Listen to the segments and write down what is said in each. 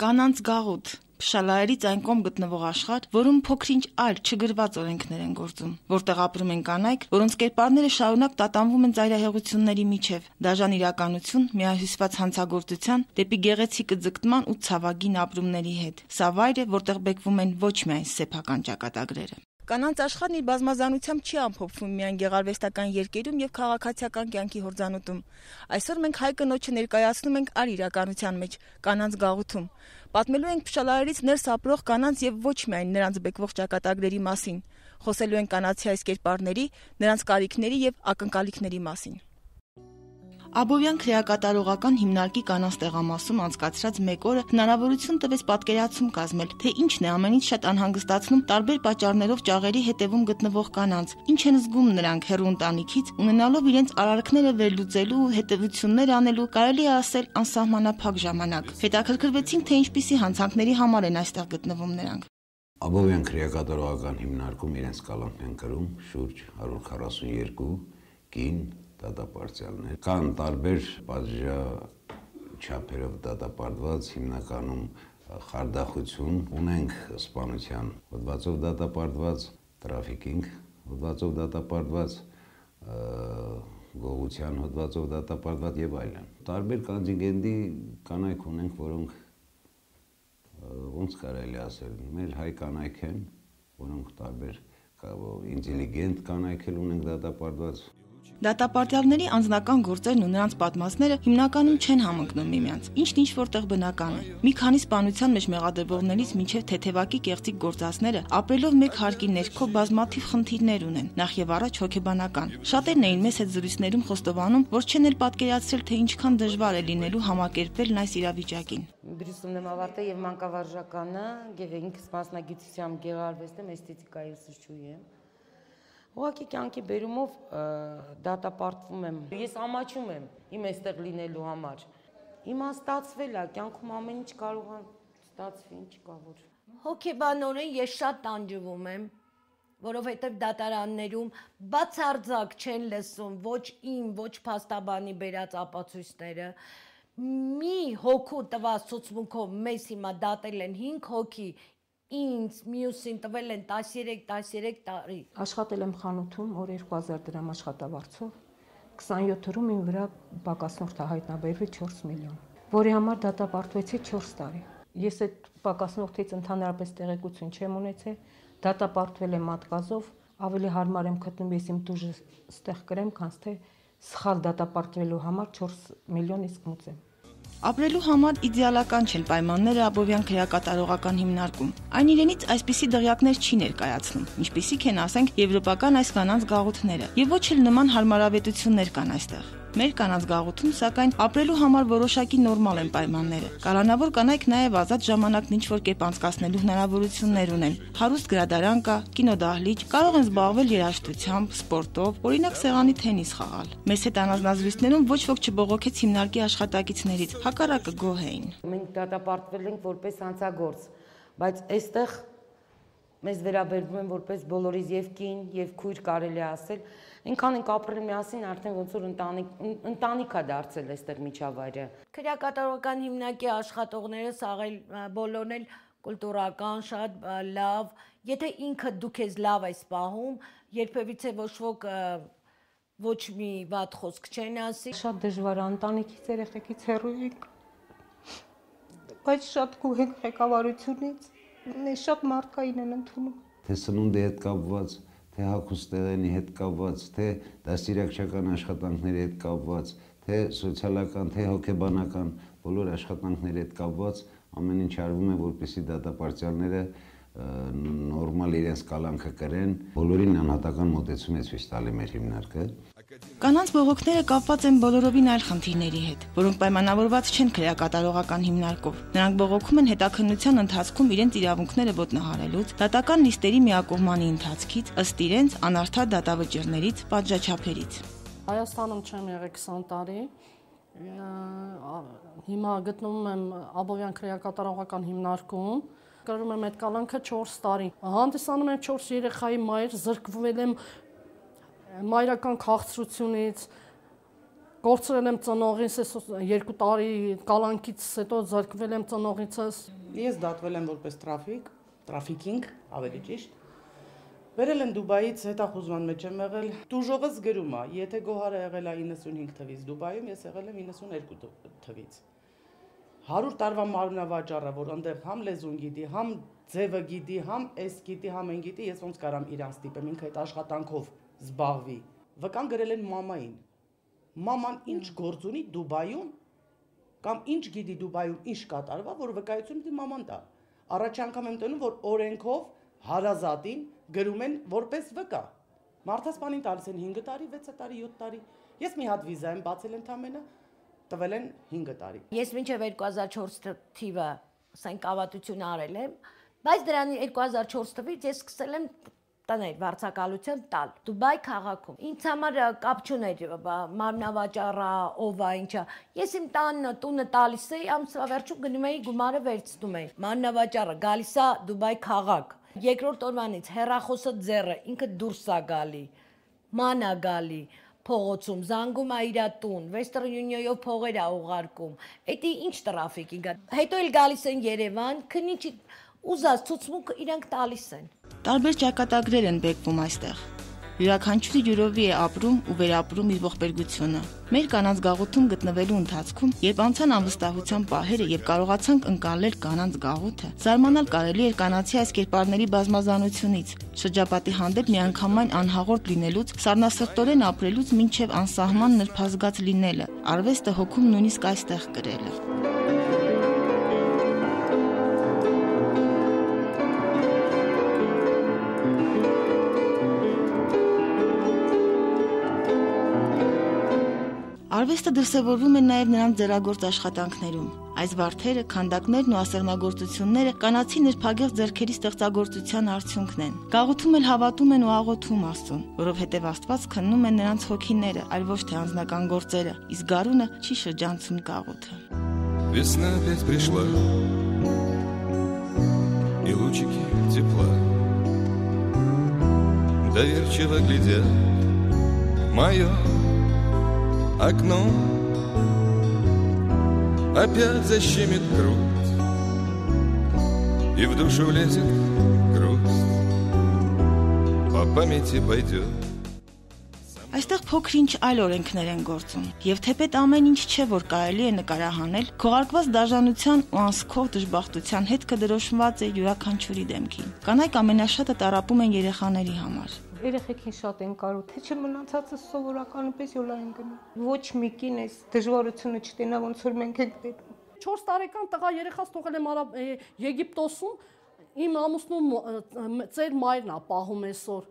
Կանանց գաղութ, փշալայերից այն կողմ գտնվող աշխարհ, որում փոքրինչ այլ չգրված օրենքներ են գործում, որտեղ ապրում են կանայք, որոնց կերպարները շարունակ տատանվում են ծայրահեղությունների միջև, դաժան իրականություն, միահյուսված հանցագործության, դեպի գեղեցիկ ձգտման ու ցավագին ապրումների հետ։ Սա վայր է, որտեղ բեկվում են ոչ միայն սեփական ճակատագրերը։ Կանանց աշխարհն իր բազմազանությամբ չի ամփոփվում միայն գեղարվեստական երկերում եւ քաղաքացիական կյանքի հորձանուտում։ Այսօր մենք հայ կնոջը ներկայացնում ենք այլ իրականության մեջ՝ կանանց գաղութում։ Պատմելու ենք փշալարերից ներս ապրող կանանց եւ ոչ միայն նրանց բեկվող ճակատագրերի մասին։ Խոսելու ենք կանացի այս կերպարների, նրանց կարիքների եւ ակնկալիքների մասին։ Աբովյան քրեակատարողական հիմնարկի կանանց տեղամասում անցկացրած մեկ օրը հնարավորություն տվեց պատկերացում կազմել, թե ինչն է ամենից շատ անհանգստացնում տարբեր պատճառներով ճաղերի հետևում գտնվող կանանց, ինչ են զգում նրանք հեռու ընտանիքից, ունենալով իրենց արարքները վերլուծելու ու հետևություններ անելու, կարելի է ասել, անսահմանափակ ժամանակ։ Հետաքրքրվեցինք, թե ինչպիսի հանցանքների համար են այստեղ գտնվում նրանք։ Աբովյան քրեակատարողական հիմնարկում իրենց կալանք են կրում շուրջ 142 կին դատապարտյալներ, կան տարբեր պատժաչափերով դատապարտված, հիմնականում խարդախություն, ունենք սպանության հոդվածով դատապարտված, տրաֆիկինգ հոդվածով դատապարտված, գողության հոդվածով դատապարտված եւ այլն։ Տարբեր կոնտինգենտի կանայք ունենք, որոնք ոնց կարելի ասել, մեր հայ կանայք են, որոնք տարբեր ինտելիգենտ կանայք էլ ունենք դատապարտված։ Դատապարտյալների անձնական գործերն ու նրանց պատմածները հիմնականում չեն համընկնում միմյանց, ինչն ինչ-որտեղ բնական է։ Մի քանի սպանության մեջ մեղադրվողներից մինչև թեթևակի կեղծիք գործածները ապրելով մեկ հարկի ներքո բազմաթիվ խնդիրներ ունեն, նախ եւ առաջ հոգեբանական։ Շատերն էին մեզ հետ զրույցներում խոստովանում, որ չեն էլ պատկերացրել, թե ինչքան դժվար է լինելու համակերպվելն այս իրավիճակին։ Բրուսումն եմ ավարտել եւ մանկավարժականը, ինքս մասնագիտությամբ գեղարվեստեմ, էսթետիկայի ուսուցչուհի եմ։ Ուղղակի կյանքի բերումով դատապարտվում եմ։ Ես ամաչում եմ իմ այստեղ լինելու համար։ Հիմա ստացվել է, կյանքում ամեն ինչ կարող է ստացվի, ինչ կա որ։ Հոգեբանորեն ես շատ տանջվում եմ, որովհետև դատարաններում բացարձակ չեն լսում ոչ իմ, ոչ փաստաբանի բերած ապացույցները։ Մի հոգու տված ցուցմունքով մեզ հիմա դատել են 5 հոգի, ինձ մյուսին տվել են 13 տարի։ Աշխատել եմ խանութում օր 2000 դրամ աշխատավարձով, 27 օրում իմ վրա պակասնորդ հայտնաբերվի 4 միլիոն, որի համար դատապարտվեցի 4 տարի։ Ես այդ պակասնորդից ընդհանրապես տեղեկություն չեմ ունեցել, դատապարտվել եմ մատկազով, ավելի հարմար եմ գտնում ես իմ դուժը ստեղ կրեմ, քան թե սխալ դատապարտվելու համար 4 միլիոն իսկ մուծեմ։ Ապրելու համար իդեալական չեն պայմանները Աբովյան քրեակատարողական հիմնարկում։ Այն իրենից այսպիսի դղյակներ չի ներկայացնում, ինչպիսիք են, ասենք, եվրոպական այս կանանց գաղութները, եւ ոչ էլ նման հարմարավետություններ կան այստեղ։ Մեր կանանց գաղութում, սակայն, ապրելու համար որոշակի նորմալ են պայմանները։ Կալանավոր կանայք նաև ազատ ժամանակն ինչ-որ կերպ անցկացնելու հնարավորություններ ունեն։ Հարուստ գրադարան կա, կինոդահլիճ, կարող են զբաղվել երաժշտությամբ, սպորտով, օրինակ սեղանի թենիս խաղալ։ Մեզ հետ անձնազրույցներում ոչ ոք չբողոքեց հիմնարկի աշխատակիցներից, հակառակը գոհ էին։ Մենք դատապարտվել ենք որպես հանցագործ, բայց այստեղ մեզ վերաբերվում են որպես բոլորիս եւ կին, եւ քույր կարելի է ասել, այնքան ենք ապրել միասին, արդեն ոնց որ ընտանիք է դարձել այստեղ միջավայրը։ Քրեակատարողական հիմնարկի աշխատողները սաղել բոլորն էլ կուլտուրական, շատ լավ, եթե ինքը դու քեզ լավ ես պահում, երբևիցե ոչ ոք ոչ մի վատ խոսք չեն ասի։ Շատ դժվար է ընտանիքից երեխեքից հեռու ենք, բայց շատ գոհ ենք ղեկավարությունից։ Մեզ շատ մարդկային են ընդունում։ Թե սնունդի հետ կապված, թե հագուստեղենի հետ կապված, թե դաստիարակչական աշխատանքների հետ կապված, թե սոցիալական, թե հոգեբանական բոլոր աշխատանքների հետ կապված ամեն ինչ արվում է, որպեսզի դատապարտյալները նորմալ իրենց կալանքը կրեն, բոլորին անհատական մոտեցում է ցույց տալի մեր հիմնարկը։ Կանանց բողոքները կապված են բոլորովին այլ խնդիրների հետ, որոնք պայմանավորված չեն քրեակատարողական հիմնարկով։ Նրանք բողոքում են հետաքննության ընթացքում իրենց իրավունքները ոտնահարելուց, դատական նիստերի միակողմանի ընթացքից, ըստ իրենց անարդար դատավճիռներից, պատժաչափերից։ Հայաստանում չեմ եղել 20 տարի։ Հիմա գտնվում եմ Աբովյան քրեակատարողական հիմնարկում։ Կրում եմ այդ կալանքը 4 տարի։ Հանդիսանում եմ 4 երեխայի մայր, զրկվել եմ մայրական քաղցրությունից, Կորցրել եմ ծնողիս, 2 տարի կալանքից հետո զրկվել եմ ծնողիցս։ Ես դատվել եմ որպես տրաֆիկինգ, ավելի ճիշտ։ Վերել եմ Դուբայից, հետախուզման մեջ եմ եղել։ Տուժողս գրում է, եթե Գոհարը եղել է 95 թվից Դուբայում, ես եղել եմ 92 թվից։ 100 տարվա մարմնավաճառը, որ այնտեղ համ լեզուն գիտի, համ ձևը գիտի, համ էս գիտի, համ այն գիտի, ես ոնց կարամ իրան ստիպեմ, ինքը այդ աշխատանքով զբաղվի։ Վկան գրել են մամային։ Մաման ինչ գործ ունի Դուբայում, կամ ինչ գիտի Դուբայում, ինչ կատարվա, որ վկայություն պիտի մաման տա։ Առաջ անգամ եմ տնում, որ օրենքով հարազատին գրում են որպես վկա։ Մարդասպանին տալիս են 5 տարի, 6 տարի, 7 տարի։ Ես մի հատ վիզա եմ բացել ընդամենը, տվել են 5 տարի։ Ես մինչև 2004 թիվը ասենք ավատություն արել եմ, բայց դրանի 2004 թվից ես սկսել եմ տներ վարձակալություն տալ Դուբայ քաղաքում։ Ինձ համար կապ չուներ մարմնավաճառա, ով է, ինչա։ Ես իմ տունը տալիս էի, ամսվա վերջում գնում էի գումարը վերցնում էի։ Մարմնավաճառը գալիս է Դուբայ քաղաք։ Երկրորդ օրվանից հեռախոսը ձեռը, ինքը դուրս է գալի, ման է գալի, փողոցում զանգում է իր տուն, Western Union-ով փողեր է ուղարկում։ Էդի ինչ տրաֆիկինգ է։ Հետո էլ գալիս են Երևան, քնիչ ուզած ցուցմունք իրանք տալիս են։ Տարբեր ճակատագրեր են բեկվում այստեղ։ Յուրաքանչյուրի յուրովի է ապրում ու վերապրում իր ողբերգությունը։ Մեր կանանց գաղութում գտնվելու ընթացքում, երբ անցան անվստահության պահերը եւ կարողացանք ընկալել կանանց գաղութը, զարմանալ կարելի էր կանացի այս կերպարների բազմազանությունից, շրջապատի հանդեպ միանգամայն անհաղորդ լինելուց, սառնասրտորեն ապրելուց մինչև անսահման նրբազգաց լինելը, արվեստը հոգում նույնիսկ այստեղ կրելը։ Արվեստը դրսևորվում է նաև նրանց ձեռագործ աշխատանքներում։ Այս վարդերը, քանդակներն ու ասեղնագործությունները կանացի նրբագեղ ձեռքերի ստեղծագործության արդյունքն են։ Գաղութում էլ հավատում են ու աղոթում Աստծուն, որովհետև Աստված քննում է նրանց հոգիները, այլ ոչ թե անձնական գործերը, իսկ գարունը չի շրջանցում գաղութը։ Весна опять пришла, и лучики тепла доверчиво глядят в мое окно. Опять защемит грудь, и в душу влезет грусть, по памяти пойдет. Այստեղ փոքր-ինչ այլ օրենքներ են գործում, եւ թեպետ ամեն ինչ չէ, որ կարելի է նկարահանել, քողարկված դաժանության ու անսքող դժբախտության հետքը դրոշմված է յուրաքանչյուրի դեմքին։ Կանայք ամենաշատը տառապում են երեխաների համար։ Երեխեքին շատ են կարու, թե չմնացածը սովորականապես յոլա են գնում։ Ոչ մի կին էս դժվարությունը չտենա, ոնց որ մենք ենք դեպքում։ 4 տարեկան տղա երեխաս թողել եմ Եգիպտոսում, իմ ամուսնու ծեր մայրն է պահում այսօր։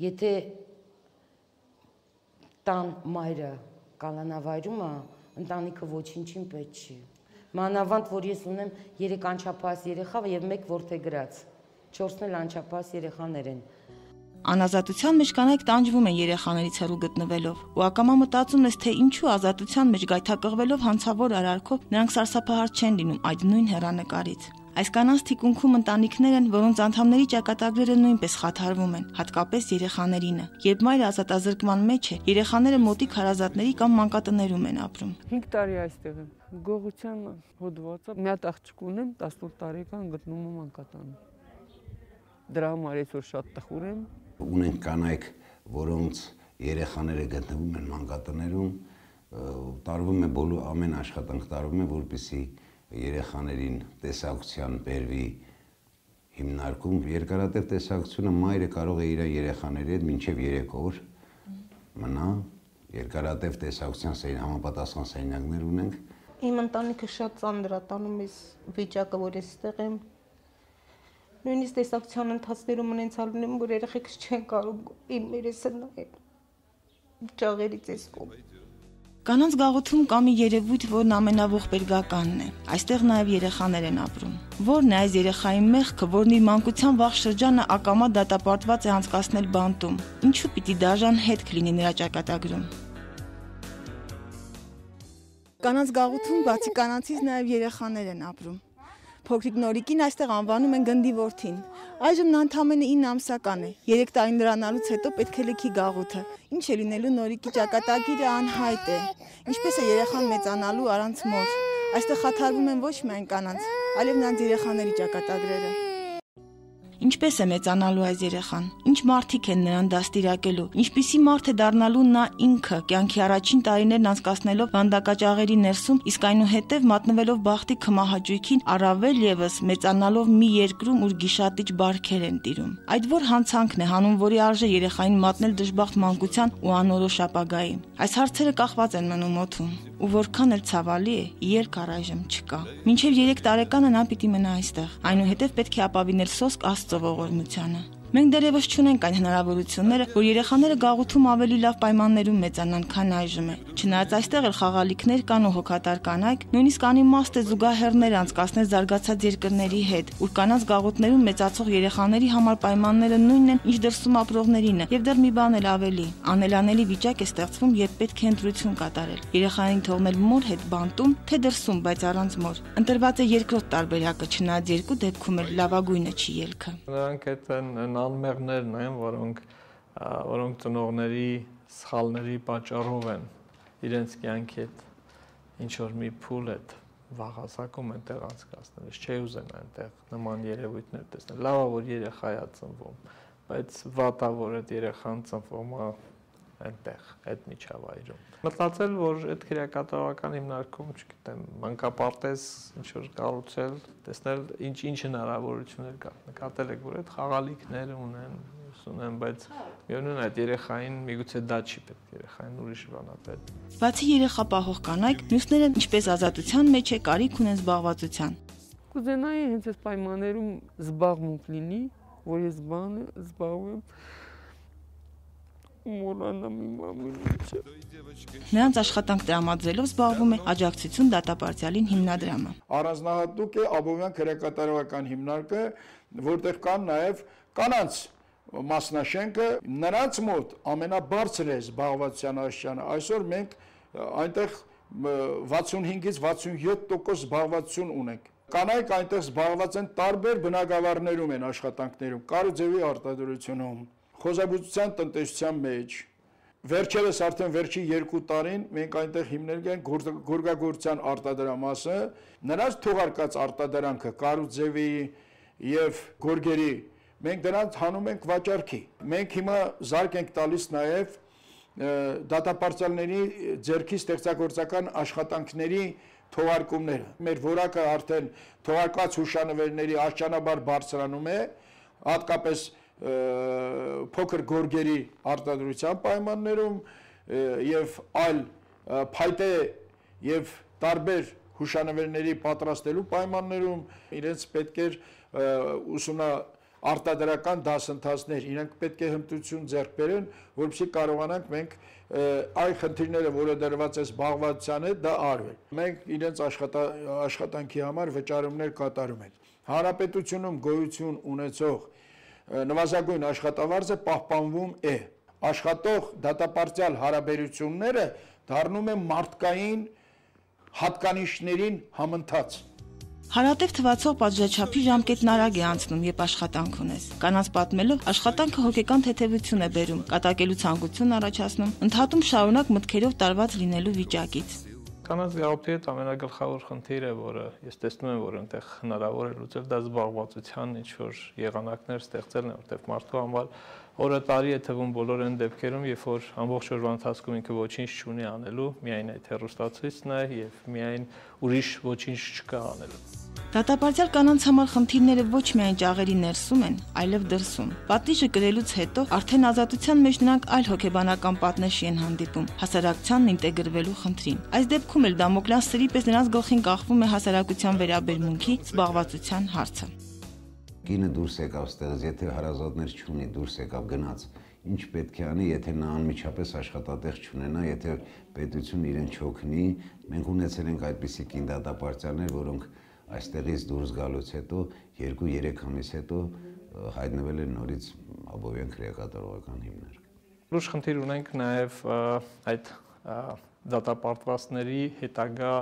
Եթե տան մայրը կալանավայրում է, ընտանիքը ոչինչին պետք չի։ Մանավանդ, որ ես ունեմ 3 անչափահաս երեխա եւ 1 որդեգրած, 4-ն էլ անչափահաս երեխաներ են։ Անազատության մեջ կանայք տանջվում են երեխաներից հեռու գտնվելով, ու ակամա մտածում ես, թե ինչու ազատության մեջ գայթակղվելով հանցավոր արարքով նրանք սարսափահար չեն լինում այդ նույն հեռանկարից։ Այս կանանց թիկունքում ընտանիքներ են, որոնց անդամների ճակատագրերը նույնպես խաթարվում են, հատկապես երեխաներինը։ Երբ մայրը ազատազրկման մեջ է, երեխաները մոտիկ հարազատների կամ մանկատներում են ապրում։ 5 տարի այստեղ եմ։ Գողության հոդվածը մի հատ աղջիկ ունեմ, 18 տարեկան գտնում եմ մանկատանում։ Դրա համար այսօր շատ տխուր եմ։ Ունենք կանայք, որոնց երեխաները գտնվում են մանկատներում, տարվում է բոլոր ամեն աշխատանք տարվում է, որպեսզի երեխաներին տեսակցության բերվի հիմնարկում։ Երկարատև տեսակցությունը մայրը կարող է իր երեխաների հետ մինչև 3 օր մնա։ Երկարատև տեսակցության համապատասխան սենյակներ ունենք։ Իմ ընտանիքը շատ ծանր է տանում այս վիճակը, որ այստեղ եմ։ Նույնիսկ տեսակցության ընթացներում ունեցալ ունեմ, որ երեխեքս չեն կարող իմ երեսը նայել։ Ճաղերից էս կողմ։ Կանանց գաղութում կա մի երևույթ, որն ամենաողբերգականն է։ Այստեղ նաև երեխաներ են ապրում։ Որն է այս երեխայի մեղքը, որն իր մանկության վաղ շրջանը ակամա դատապարտված է անցկացնել բանտում։ Ինչու պիտի դաժան հետք լինի նրա ճակատագրում։ Կանանց գաղութում բացի կանանցից նաև երեխաներ են ապրում։ Փոքրիկ Նորիկին այստեղ անվանում են գնդի որդին։ Այժմ նա ընդամենը 9 ամսական է։ 3 տարին լրանալուց հետո պետք է լքի գաղութը։ Ինչ է լինելու Նորիկի ճակատագիրը անհայտ է։ Ինչպես է երեխան մեծանալու առանց մոր։ Այստեղ խաթարվում են ոչ միայն կանանց, այլև նրանց երեխաների ճակատագրերը։ Ինչպես է մեծանալու այս երեխան, ինչ մարդիկ են նրան դաստիարակելու, ինչպիսի մարդ է դառնալու նա ինքը, կյանքի առաջին տարիներն անցկացնելով վանդակաճաղերի ներսում, իսկ այնուհետև մատնվելով բախտի քմահաճույքին, առավել ևս մեծանալով մի երկրում, ուր գիշատիչ բարքեր են տիրում։ Այդ որ հանցանքն է հանուն որի արժե երեխային մատնել դժբախտ մանկության ու անորոշ ապագայի։ Այս հարցերը կախված են մնում օդում, ու որքան էլ ցավալի է, երկ առայժմ չկա։ Մինչև 3 տարեկանը նա պիտի մնա այստեղ, այնուհետև պետք է ապավինել սոսկ Աստծո ողորմությանը։ Մենք դեռևս չունենք այն հնարավորությունները, որ երեխաները գաղութում ավելի լավ պայմաններում մեծանան, քան այժմ է։ Չնայած այստեղ էլ խաղալիքներ կան ու հոգատար կանայք, նույնիսկ անիմաստ է զուգահեռներ անցկացնել զարգացած երկրների հետ, ուր կանանց գաղութներում մեծացող երեխաների համար պայմանները նույնն են, ինչ դրսում ապրողներինը, եւ դեռ մի բան էլ ավելի։ Անելանելի վիճակ է ստեղծվում, երբ պետք է ընտրություն կատարել։ Երեխային թողնել մոր հետ բանտում, թե դրսում, բայց առանց մոր։ Ընտրված է երկրորդ տարբերակը, չնայած երկու դեպքում էլ լավագույնը չի ելքը։ Նրանք այդ անմեղներն են, որոնք ծնողների սխալների պատճառով են իրենց կյանքի հետ ինչ որ մի փուլ հետ վաղասակում են տեղ անցկացնել, չէ ուզեն այնտեղ նման երևույթներ տեսնել։ Լավ է, որ երեխա է ծնվում, բայց վատ է, որ այդ երեխան ծնվում է այնտեղ, այդ միջավայրում։ Մտածել, որ այդ քրեակատարողական հիմնարկում, չգիտեմ, մանկապարտեզ ինչ որ կառուցել, տեսնել ինչ հնարավորություններ կա։ Նկատել եք, որ այդ խաղալիքներ ունեն, բայց միևնույն այդ երեխային միգուցե դա չի պետք, երեխային ուրիշ բան է պետք։ Բացի երեխա պահող կանայք, մյուսները ինչպես ազատության մեջ է կարիք ունեն զբաղվածության։ Կուզենայի հենց այս պայմաններում զբաղմունք լինի, որ ես զբաղվեմ Նրանց աշխատանք տրամադրելով զբաղվում է Աջակցություն դատապարտյալին հիմնադրամը։ Առանձնահատուկ է Աբովյան քրեակատարողական հիմնարկը, որտեղ կան նաև կանանց մասնաշենքը, նրանց մոտ ամենաբարձր է զբաղվածության աստիճանը։ Այսօր մենք այնտեղ 65-ից 67% զբաղվածություն ունենք։ Կանայք այնտեղ զբաղված են տարբեր բնակավարներում են աշխատանքներում, կարուձևի արտադրությունում, խոզաբուծության տնտեսության մեջ։ Վերջերս արդեն վերջի 2 տարին մենք այնտեղ հիմնել ենք գորգագործության արտադրամասը, նրանց թողարկած արտադրանքը կարուձևի եւ գորգերի մենք դրանց հանում ենք վաճառքի։ Մենք հիմա զարկ ենք տալիս նաեւ դատապարտյալների ձեռքի ստեղծագործական աշխատանքների թողարկումները։ Մեր որակը արդեն թողարկված հուշանվերների աշճանաբար բարձրանում է, հատկապես փոքր գորգերի արտադրության պայմաններում եւ այլ փայտե եւ տարբեր հուշանվերների պատրաստելու պայմաններում իրենց պետք է արտադրական դասընթացներ, իրենք պետք է հմտություն ձեռք բերեն, որովհետեւ կարողանանք մենք այ խնդիրները, որը դրված է զբաղվածության հետ, դա արվել։ Մենք իրենց աշխատանքի համար վճարումներ կատարում ենք։ Հանրապետությունում գոյություն ունեցող նվազագույն աշխատավարձը պահպանվում է։ Աշխատող դատապարտյալ հարաբերությունները դառնում են մարդկային հատկանիշներին համընթաց։ Հարատև թվացող պատժաչափի ժամկետն արագ է անցնում, երբ աշխատանք ունես։ Կանանց պատմելով, աշխատանքը հոգեկան թեթևություն է բերում, կատակելու ցանկություն առաջացնում, ընդհատում շարունակ մտքերով տարված լինելու վիճակից։ Կանանց գաղութի հետ ամենագլխավոր խնդիրը, որը ես տեսնում եմ, որ այնտեղ հնարավոր է լուծել, դա զբաղվածության ինչ-որ եղանակներ ստեղծելն է, որտեղ մարդու համար օրը տարի է թվում բոլոր այն դեպքերում, երբ որ ամբողջ օրվա ընթացքում ինքը ոչինչ չունի անելու, միայն այդ հեռուստացույցն է եւ միայն ուրիշ ոչինչ չկա անելու։ Դատապարտյալ կանանց համար խնդիրները ոչ միայն ճաղերի ներսում են, այլև դրսում։ Պատիժը կրելուց հետո արդեն ազատության մեջ նրանք այլ հոգեբանական պատնեշի են հանդիպում՝ հասարակությանն ինտեգրվելու խնդրին։ Այս դեպքում էլ Դամոկլյան սրի պես նրանց գլխին կախվում է հասարակության վերաբերմունքի, զբաղվածության հարցը։ Կինը դուրս եկավ ստեղից, եթե հարազատներ չունի, դուրս եկավ գնաց, ինչ պետք է անի, եթե նա անմիջապես աշխատատեղ չունենա, եթե պետությունը իրեն չօգնի, մենք ունեցել ենք այդպիսի կին դատապարտյալներ, որոնք այստեղից դուրս գալուց հետո 2-3 ամիս հետո հայտնվել են նորից Աբովյան քրեակատարողական հիմնարկ։ Լուրջ խնդիր ունենք նաև այդ դատապարտվածների հետագա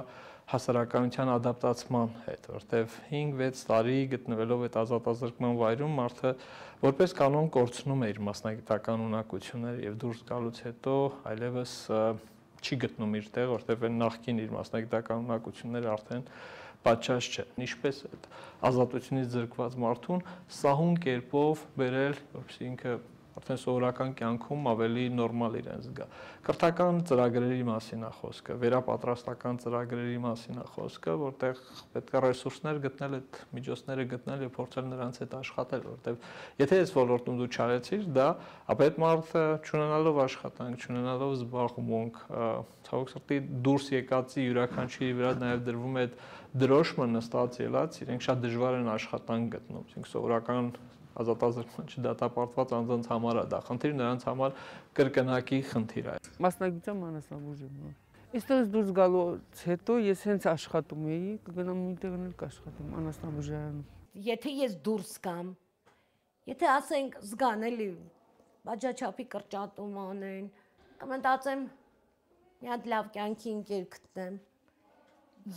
հասարակայնության ադապտացման հետ, որտեվ 5-6 տարի գտնվելով այդ ազատազրկման վայրում մարդը որպես կանոն կորցնում է իր մասնագիտական ունակությունները եւ դուրս գալուց հետո այլևս չի գտնում իր տեղ, որտեվ այն նախկին իր մասնագիտական ունակությունները արդեն պատշաճ չէ։ Ինչպես այդ ազատությունից զրկված մարդուն սահուն կերպով բերել, որպեսզի ինքը արդեն սովորական կյանքում ավելի նորմալ իրեն զգա։ Կրթական ծրագրերի մասին է խոսքը, վերապատրաստական ծրագրերի մասին է խոսքը, որտեղ պետք է ռեսուրսներ գտնել, այդ միջոցները գտնել եւ փորձել նրանց հետ աշխատել, որտեղ եթե այս ոլորտում դու չարեցիր դա, ապա այդ մարդը չունենալով աշխատանք, չունենալով զբաղմունք, ցավոք սրտի դուրս եկածի յուրաքանչյուրի վրա նաեւ դրվում է այդ դրոշմը նստած ելած, իրենք շատ դժվար են աշխատանք գտնում, այսինքն սովորական ազատազրկման չդատապարտված անձանց համար է դա խնդիր, նրանց համար կրկնակի խնդիր է։ Մասնագիտության մանրամասն եմ։ Այստեղից դուրս գալուց հետո ես հենց աշխատում էի, կգնամ միտեղ կաշխատեմ անասնաբուժարանում։ Եթե ես դուրս գամ, եթե ասենք զգան էլի բաժաչափի կրճատում անեն, կմտածեմ մի հատ լավ կյանքի ընկեր գտնեմ։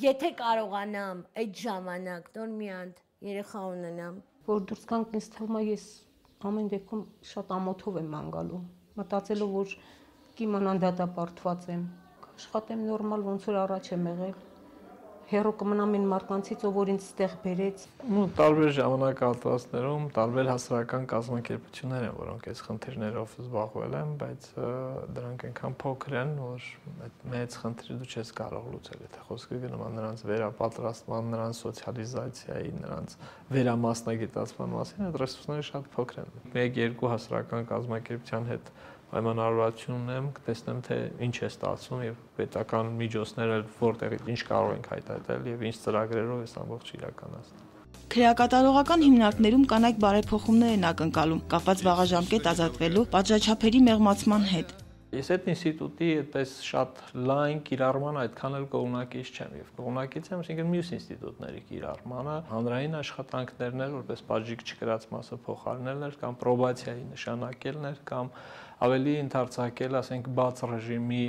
Եթե կարողանամ այդ ժամանակ նոր մի հատ երեխա ունենամ, որ դուրս գանք ինձ թվում է ես ամեն դեպքում շատ ամոթով եմ անգալու, մտածելով որ կիմանան դատապարտված եմ, աշխատեմ նորմալ ոնց որ առաջ եմ եղել, հերո կմնամ այն մարդկանցից, որ ինձ ստեղ բերեց։ Տարբեր ժամանակահատվածներում տարբեր հասարակական կազմակերպություններ են, որոնք այս խնդիրներով զբաղվել են, բայց դրանք այնքան փոքր են, որ այդ մեծ խնդիրը դու չես կարող լուծել, եթե խոսքը գնում է նրանց վերապատրաստման, նրանց սոցիալիզացիայի, նրանց վերամասնագիտացման մասին, այդ ռեսուրսները շատ փոքր են։ 1-2 հասարակական կազմակերպության հետ պայմանավորվածություն ունեմ, կտեսնեմ թե ինչ է ստացվում եւ պետական միջոցները որտեղից ինչ կարող ենք հայտարարել եւ ինչ ծրագրերով է ամբողջ իրականացնում։ Քրեակատարողական հիմնարկներում կանայք բարեփոխումներ են ակնկալում, կապված վաղաժամկետ ազատվելու պատժաչափերի մեղմացման հետ։ Ես այդ ինստիտուտի այդպես շատ լայն կիրառման այդքան էլ կողմնակից չեմ եւ կողմնակից եմ, այսինքն մյուս ինստիտուտների կիրառմանը, հանրային աշխատանքներն էր, որպես բաժիկ չկրած մասը փոխարինելներ կամ պրոբացիայի նշանակելներ կամ ավելի ընդարձակել, ասենք, բաց ռեժիմի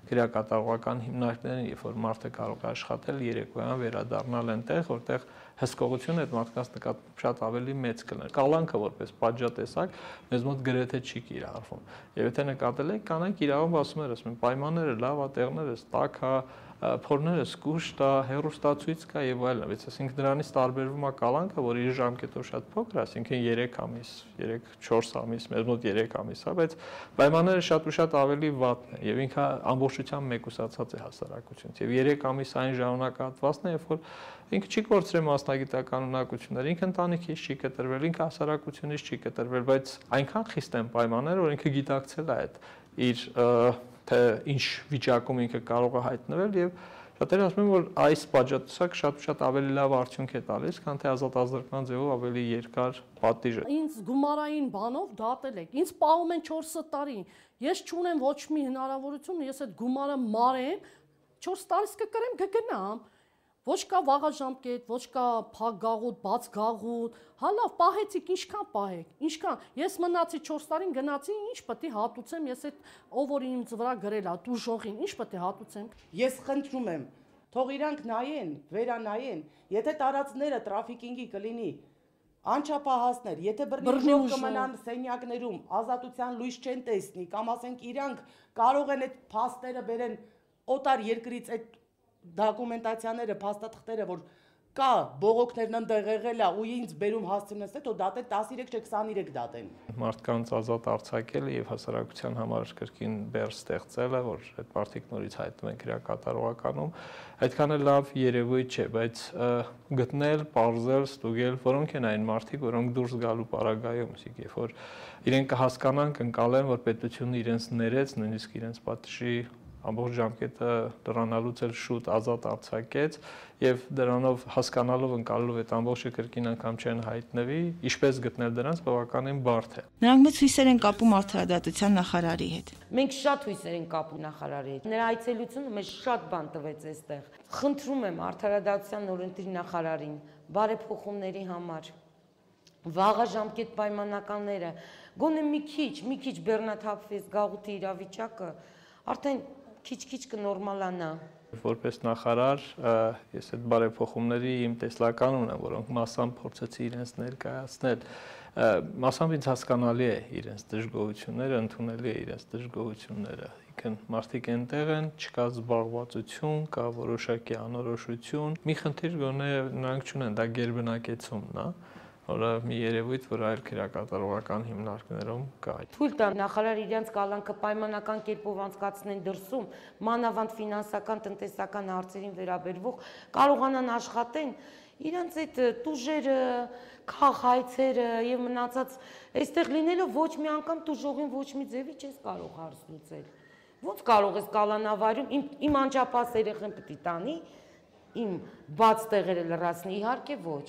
քրեակատարողական հիմնարկներին, երբ որ մարդը կարող է աշխատել երեկոյան վերադառնալ այնտեղ, որտեղ հսկողությունը այդ մարդկանց նկատմամբ շատ ավելի մեծ կլներ։ Կալանքը որպես պատժատեսակ մեզ մոտ գրեթե չի կիրառվում։ Եվ եթե նկատել եք, կանայք իրավամբ ասում են, պայմանները լավ է, տեղները տաք է, փորները զգուշտ է, հեռուստացույց կա եւ այլն, բայց ասենք դրանից տարբերվում է կալանքը, որ իր ժամկետով շատ փոքր է, ասինքն 3 ամիս, 3-4 ամիս, մեզ մոտ 3 ամիս է, բայց պայմանները շատ ու շատ ավելի վատն են եւ ինքը ամբողջությամբ մեկուսացած է հասարակությունից եւ 3 ամիս այն ժամանակահատվածն է, երբ որ ինքը չի կորցրել մասնագիտական ունակությունները, ինքը ընտանիքից չի կտրվել, ինքը հասարակությունից չի կտրվել, բայց այնքան խիստ են պայմանները, որ ինքը գիտակցել է այդ իր թե ինչ վիճակում ինքը կարող է հայտնվել եւ շատերը ասում են, որ այս պատժատուսակ շատ ավելի լավ արդյունք է տալիս, քան թե ազատազրկման ձևով ավելի երկար պատիժը։ Ինձ գումարային բանով դատել եք։ Ինձ պահում են 4 տարի։ Ես չունեմ ոչ մի հնարավորություն, ես այդ գումարը մարեմ, 4 տարիս կկրեմ, կգնամ։ Ոչ կա վաղաժամկետ, ոչ կա փակ գաղութ, բաց գաղութ։ Հա լավ, պահեցիք, ինչքան պահեք։ Ինչքան։ Ես մնացի 4 տարին, գնացի, ինչ պետք է հատուցեմ, ես այդ ով որ ինձ վրա գրել է, դուժողին, ինչ պետք է հատուցեմ։ Ես խնդրում եմ, թող իրանք նայեն, վերանայեն, եթե տարածքները տրաֆիկինգի կլինի, անչափահասներ, եթե բռնի ուժով կմնան սենյակներում, ազատության լույս չեն տեսնի, կամ ասենք իրանք կարող են այդ փաստերը բերեն օտար երկրից այդ դոկումենտացիաները, փաստաթղթերը, որ կա բողոքներն ընդեղ եղել է ու ինձ բերում հասցնես, թե դատել 13 չէ 23 դատեն։ Մարդկանց ազատ արձակելը եւ հասարակության համար կրկին բեռ ստեղծելը, որ այդ մարդիկ նորից հայտնվում են քրեակատարողականում, այդքան էլ լավ երևույթ չէ, բայց գտնել, պարզել, ստուգել, որոնք են այն մարդիկ, որոնք դուրս գալու պարագայում, իսկ երբ որ իրենք կհասկանան, կընկալեն, որ պետությունը իրենց ներեց, նույնիսկ իրենց պատժի ամբողջ ժամկետը դրանալուց էլ շուտ ազատ արձակեց եւ դրանով հասկանալով ընկալելով այդ ամբողջը կրկին անգամ չեն հայտնվի, ինչպես գտնել դրանց բավականին բարդ է։ Նրանք մեծ հույսեր են կապում արդարադատության նախարարի հետ։ Մենք շատ հույսեր ենք կապում նախարարի հետ։ Նրա այցելությունը մեզ շատ բան տվեց այստեղ։ Խնդրում եմ արդարադատության օրենսդիր նախարարին բարեփոխումների համար վաղաժամկետ պայմանականները գոնե մի քիչ բեռնաթափվի գաղութի իրավիճակը արդեն քիչ-քիչ կնորմալանա, Որպես նախարար ես այդ բարեփոխումների իմ տեսլական ունեմ, որոնք մասամբ փորձեցի իրենց ներկայացնել։ Մասամբ ինձ հասկանալի է իրենց դժգոհությունները, ընդունելի է իրենց դժգոհությունները։ Իքն մարդիկ այնտեղ են, չկա զբաղվածություն, կա որոշակի անորոշություն։ Մի խնդիր գոնե նրանք չունեն, դա գերբնակեցումն է, որը մի երևույթ, որ այլ քրեակատարողական հիմնարկներում կա։ Թույլ տան նախարար իրենց կալանքը պայմանական կերպով անցկացնեն դրսում, մանավանդ ֆինանսական, տնտեսական հարցերին վերաբերող կարողանան աշխատեն, իրենց այդ տուժերը, քաղաքայցերը եւ մնացած այստեղ լինելով ոչ մի անգամ տուժողին ոչ մի ձևի չես կարող հարց լուծել։ Ոնց կարող ես կալանավարում իմ անջապահ երեխան պետք է տանի, իմ բաց տեղերը լրացնի, իհարկե ոչ։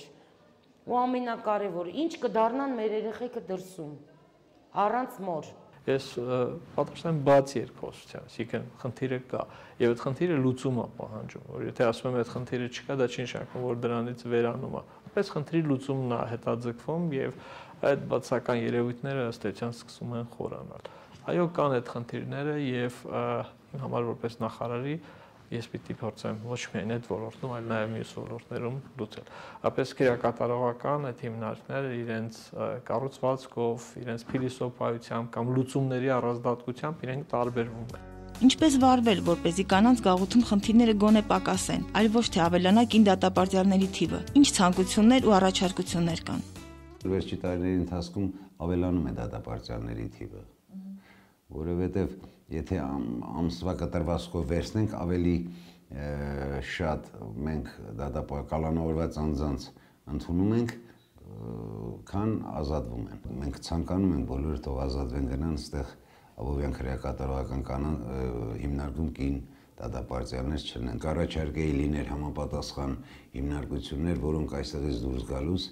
Ու ամենակարևորը, ինչ կդառնան մեր երեխեքը դրսում, առանց մոր։ Ես պատրաստ եմ բաց երկխոսության, այսինքն խնդիրը կա, եւ այդ խնդիրը լուծում է պահանջում, որ եթե ասում եմ այդ խնդիրը չկա, դա չի նշանակում, որ դրանից վերանում է։ Ապես խնդրի լուծումն է հետաձգվում եւ այդ բացական երևույթները ըստ էության սկսում են խորանալ։ Այո, կան այդ խնդիրները եւ իմ համար որպես նախարարի ես պիտի փորձեմ ոչ միայն այդ ոլորտում, այլ նաև մյուս ոլորտներում լուծել։ Ապես քրեակատարողական այդ հիմնարկները իրենց կառուցվածքով, իրենց փիլիսոփայությամբ կամ լուծումների առանձնատկությամբ իրենք տարբերվում են։ Ինչպես վարվել, որպեսզի կանանց գաղութում խնդիրները գոնե պակասեն, այլ ոչ թե ավելանա կին դատապարտյալների թիվը։ Ինչ ցանկություններ ու առաջարկություններ կան։ Վերջի տարիների ընթացքում ավելանում է դատապարտյալների թիվը, որովհետև եթե ամսվա կտրվածքով վերցնենք, ավելի շատ մենք կալանավորված անձանց ընդունում ենք, քան ազատվում են։ Մենք ցանկանում ենք բոլորը թող ազատվեն գնան այստեղ Աբովյան քրեակատարողական հիմնարկում կին դատապարտյալներ չլինեն։ Կառաջարկեի լիներ համապատասխան հիմնարկություններ, որոնք այստեղից դուրս գալուց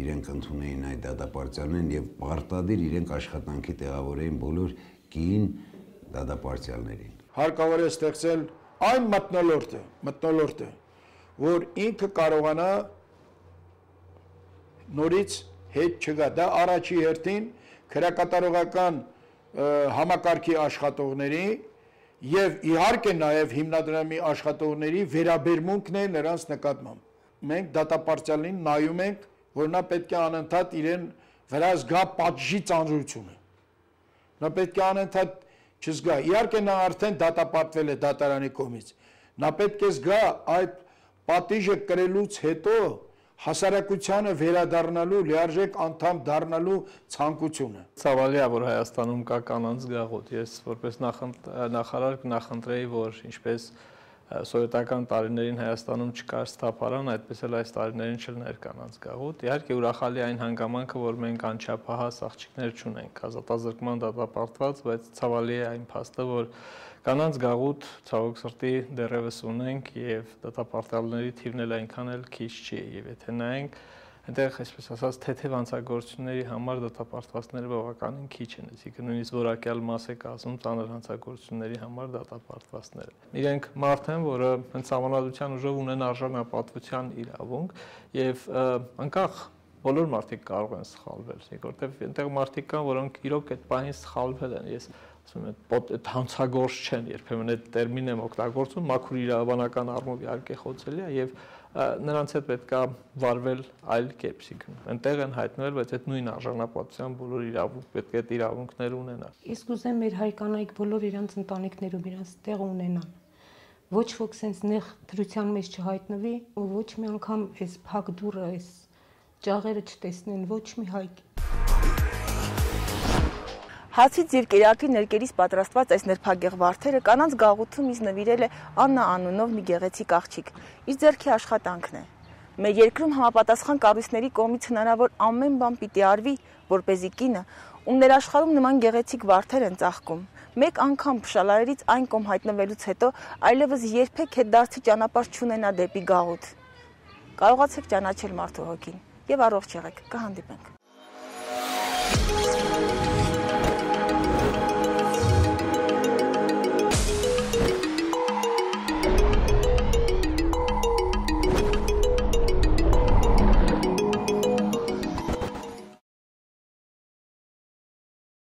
իրենք ընդունեին այդ դատապարտյալներին եւ պարտադիր իրենք աշխատանքի տեղավորեին բոլոր կին դատապարտյալներին։ Հարկավոր է ստեղծել այն մթնոլորտը, որ ինքը կարողանա նորից հետ չգա։ Դա առաջի հերթին քրեակատարողական համակարգի աշխատողների եւ իհարկե նաեւ հիմնադրամի աշխատողների վերաբերմունքն է նրանց նկատմամբ։ Մենք դատապարտյալին նայում ենք, որ նա պետք է անընդհատ իրեն վրա զգա պատժի ծանրությունը։ Նա պետք է անընդհատ չզգա։ Իհարկե նա արդեն դատապարտվել է դատարանի կողմից։ Նա պետք է զգա այդ պատիժը կրելուց հետո հասարակությանը վերադառնալու, լիարժեք անդամ դառնալու ցանկությունը։ Ցավալի է, որ Հայաստանում կա կանանց գաղութ։ Ես որպես նախարար կնախընտրեի, որ ինչպես սովետական տարիներին Հայաստանում չկար սթափարան, այդպես էլ այս տարիներին չլներ կանանց գաղութ։ Իհարկե ուրախալի այն հանգամանքը, որ մենք անչափահաս աղջիկներ չունենք, ազատազրկման դատապարտված, բայց ցավալի է այն փաստը, որ կանանց գաղութ ցավոք սրտի դեռևս ունենք եւ դատապարտյալների թիվն էլ այնքան էլ քիչ չի եւ եթե նայենք այնտեղ այսպես ասած թեթև հանցագործությունների համար դատապարտվածները բավականին քիչ են, այսինքն նույնիսկ որակյալ մաս է կազմում ծանր հանցագործությունների համար դատապարտվածները։ Իրենք մարդ են, որը հենց համանadության ուժով ունեն արժանապատվության իրավունք եւ անկախ բոլոր մարդիկ կարող են սխալվել, որտեղ այնտեղ մարդիկ կան, որոնք իրոք այդ բանից սխալվել են։ Ես ասում եմ, այդ հանցագործ չեն, երբեմն այդ տերմինն եմ օգտագործում, մաքուր իրավաբանական առումով իհարկե խոցելի է եւ նրանց հետ պետք է վարվել այլ կերպ, այնտեղ են հայտնվել, բայց այդ նույն արժանապատվության բոլոր իրավունք պետք է այդ իրավունքներ ունենան։ Ես կուզեմ մեր հայ կանայք բոլոր իրանց ընտանիքներում իրանց տեղ ունենան։ Ոչ ոք sense նեղ դրության մեջ չհայտնվի ու ոչ մի անգամ այս փակ դուռը, այս ճաղերը չտեսնեն ոչ մի հայ։ Հացից եւ կերակրի ներկերից պատրաստված այս նրբագեղ վարդերը կանանց գաղութում ինձ նվիրել է Աննա անունով մի գեղեցիկ աղջիկ։ Իր ձեռքի աշխատանքն է։ Մեր երկրում համապատասխան կառույցների կողմից հնարավոր ամեն բան պիտի արվի, որպեսզի կինը, ում ներաշխարհում նման գեղեցիկ վարդեր են ծաղկում, մեկ անգամ փշալարերից այն կողմ հայտնվելուց հետո այլևս երբեք հետդարձի ճանապարհ չունենա դեպի գաղութ։ Կարողացեք ճանաչել մարդու հոգին եւ առողջ եղեք։ Կհանդիպենք։